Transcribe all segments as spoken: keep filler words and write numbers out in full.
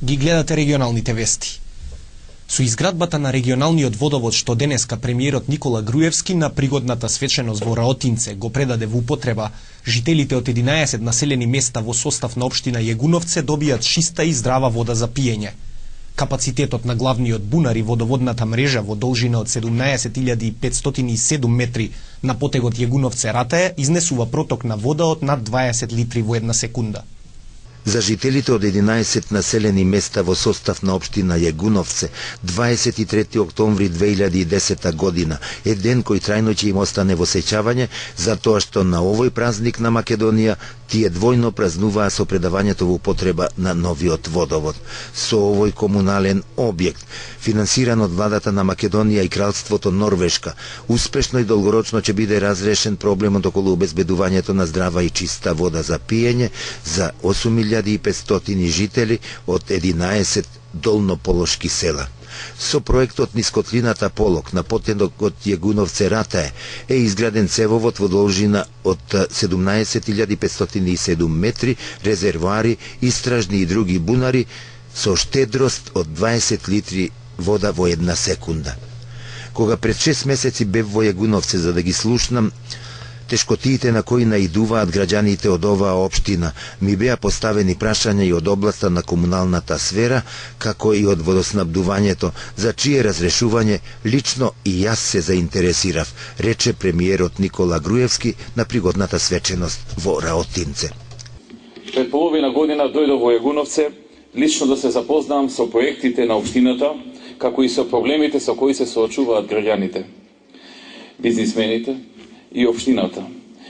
Ги гледате регионалните вести. Со изградбата на регионалниот водовод што денеска премиерот Никола Груевски на пригодната свеченост во Раотинце го предаде во употреба, жителите од единаесет населени места во состав на општина Јегуновце добијат чиста и здрава вода за пиење. Капацитетот на главниот бунар и водоводната мрежа во должина од седумнаесет илјади петстотини и седум метри на потегот Јегуновце-Ратаја изнесува проток на вода од над дваесет литри во една секунда. За жителите од единаесет населени места во состав на општина Јегуновце, дваесет и трети октомври две илјади и десета година е ден кој трајно ќе им остане во сеќавање, затоа што на овој празник на Македонија тие двојно празнуваа со предавањето во употреба на новиот водовод. Со овој комунален објект, финансиран од владата на Македонија и кралството Норвешка, успешно и долгорочно ќе биде разрешен проблемот околу обезбедувањето на здрава и чиста вода за пиење за осум илјади и петстотини жители од единаесет долнополошки села. Со проектот низ котлината Полок на потегот Јегуновце-Ратаја е изграден цевовод во должина од седумнаесет илјади петстотини и седум метри, резервоари, истражни и други бунари со штедрост од дваесет литри вода во една секунда. Кога пред шест месеци бев во Јегуновце за да ги слушнам тешкотиите на кои наидуваат граѓаните од оваа општина, ми беа поставени прашања и од областа на комуналната сфера, како и од водоснабдувањето, за чие разрешување лично и јас се заинтересирав, рече премиерот Никола Груевски на пригодната свеченост во Раотинце. Пред половина година дојдов во Јегуновце лично да се запознам со проектите на општината, како и со проблемите со кои се соочуваат граѓаните, бизнисмените и општината,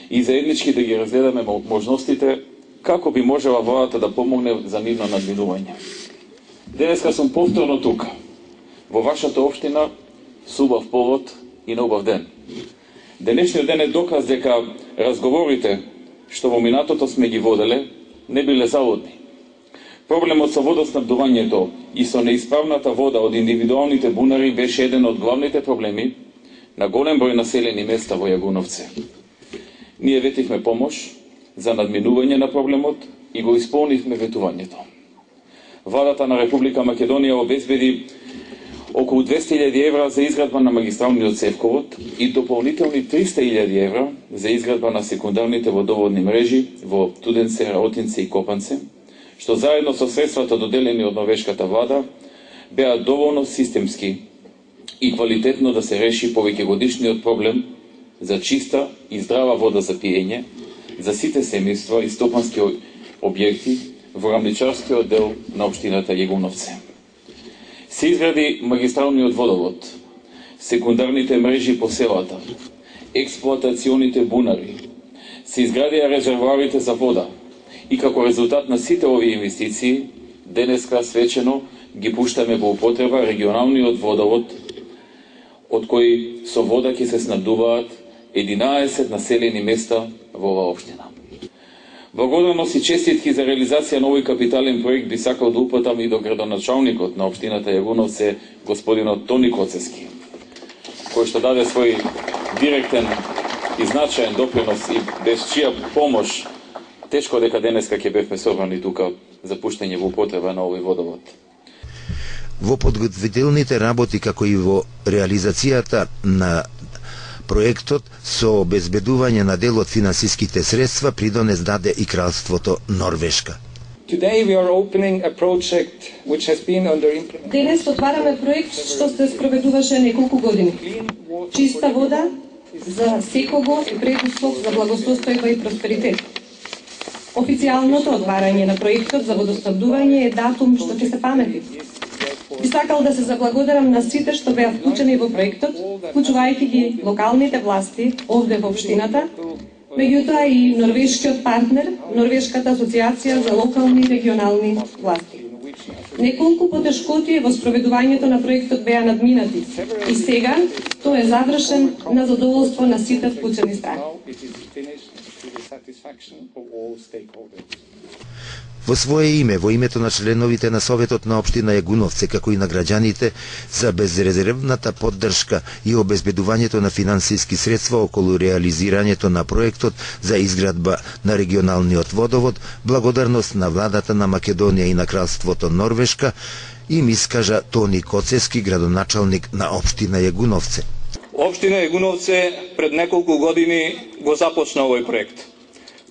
и заеднички да ги разгледаме можностите како би можела владата да помогне за нивно надминување. Денеска сум повторно тука, во вашата општина, со убав повод и на убав ден. Денешниот ден е доказ дека разговорите што во минатото сме ги воделе не биле заводни. Проблемот со водоснабдувањето и со неисправната вода од индивидуалните бунари беше еден од главните проблеми на голем број населени места во Јегуновце. Ние ветивме помош за надминување на проблемот и го исполнивме ветувањето. Владата на Република Македонија обезбеди околу двесте илјади евра за изградба на магистралниот цевковод и дополнителни триста илјади евра за изградба на секундарните водоводни мрежи во Туденце, Раотинце и Копанце, што заедно со средствата доделени од норвешката влада беа доволно системски и квалитетно да се реши повеќегодишниот проблем за чиста и здрава вода за пиење за сите семејства и стопански објекти во рамничарскиот дел на општината Јегуновце. Се изгради магистралниот водовод, секундарните мрежи по селата, експлоатационите бунари, се изградија резервоарите за вода и како резултат на сите овие инвестиции, денеска свечено ги пуштаме во употреба регионалниот водовод, од кои со вода ќе се снабдуваат единаесет населени места во оваа општина. Благодарност и честитки за реализација на овој капитален проект би сакал да упатам и до градоначалникот на општината Јегуновце, господинот Тони Коцески, кој што даде свој директен и значаен допринос и без чија помош тешко дека денеска ќе бевме собрани тука за пуштање во употреба на овој водовод. Во подготвителните работи, како и во реализацијата на проектот со обезбедување на дел од финансиските средства придонес даде и кралството Норвешка. Денес отвараме проект што се спроведуваше неколку години. Чиста вода за секого е предуслов за благосостојба и просперитет. Официјалното отварање на проектот за водоснабдување е датум што ќе се памети. Би сакал да се заблагодарам на сите што беа вклучени во проектот, вклучувајќи ги локалните власти овде во општината, меѓутоа и норвешкиот партнер, Норвешката асоциација за локални и регионални власти. Неколку потешкоти во спроведувањето на проектот беа надминати и сега тој е завршен на задоволство на сите вклучени страни. Во свое име, во името на членовите на Советот на општина Јагуновце, како и на граѓаните, за безрезервната поддршка и обезбедувањето на финансиски средства околу реализирањето на проектот за изградба на регионалниот водовод, благодарност на владата на Македонија и на кралството Норвешка, им искажа Тони Коцески, градоначалник на општина Јагуновце. Општина Јагуновце пред неколку години го започна овој проект.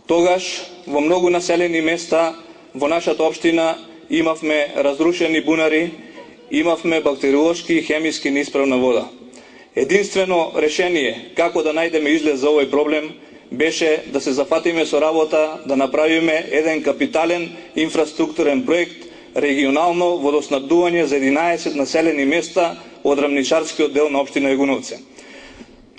Тогаш во многу населени места во нашата општина имавме разрушени бунари, имавме бактериолошки и хемиски неисправна вода. Единствено решение како да најдеме излез за овој проблем беше да се зафатиме со работа, да направиме еден капитален инфраструктурен проект, регионално водоснабдување за единаесет населени места од рамничарскиот дел на општина Јагуновце.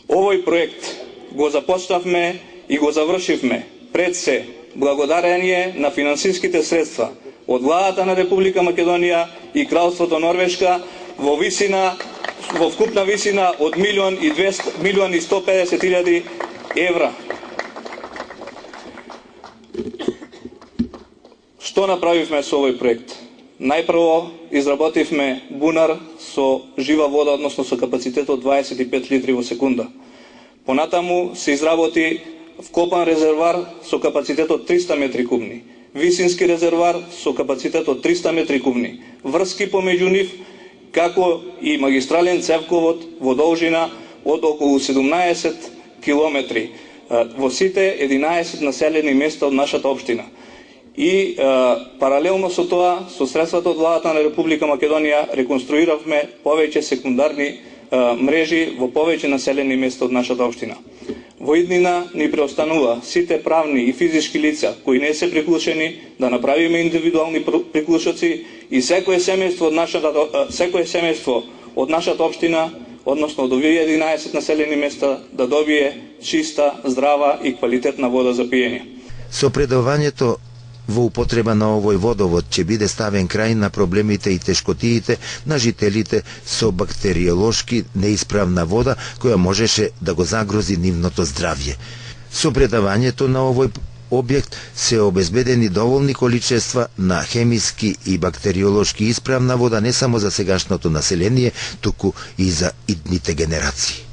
Овој проект го започнавме и го завршивме пред се благодарение на финансиските средства од владата на Република Македонија и Кралството Норвешка во висина во вкупна висина од милион и двесте милион и сто педесет илјади евра. Што направивме со овој проект? Најпрво изработивме бунар со жива вода, односно со капацитет од дваесет и пет литри во секунда. Понатаму се изработи вкопан резервар со капацитет од триста метри кубни, висински резервар со капацитет од триста метри кубни, врски помеѓу нив, како и магистрален цевковод во должина од околу седумнаесет километри во сите единаесет населени места од нашата општина. И е, паралелно со тоа, со средствата од владата на Република Македонија, реконструиравме повеќе секундарни е, мрежи во повеќе населени места од нашата општина. Во иднина ни преостанува сите правни и физички лица кои не се приклучени да направиме индивидуални приклучоци и секое семејство од нашата секое семејство од нашата општина, односно од овие единаесет населени места, да добие чиста, здрава и квалитетна вода за пиење. Со предавањето во употреба на овој водовод ќе биде ставен крај на проблемите и тешкотиите на жителите со бактериолошки неисправна вода која можеше да го загрози нивното здравје. Со предавањето на овој објект се обезбедени доволни количества на хемиски и бактериолошки исправна вода не само за сегашното население, туку и за идните генерации.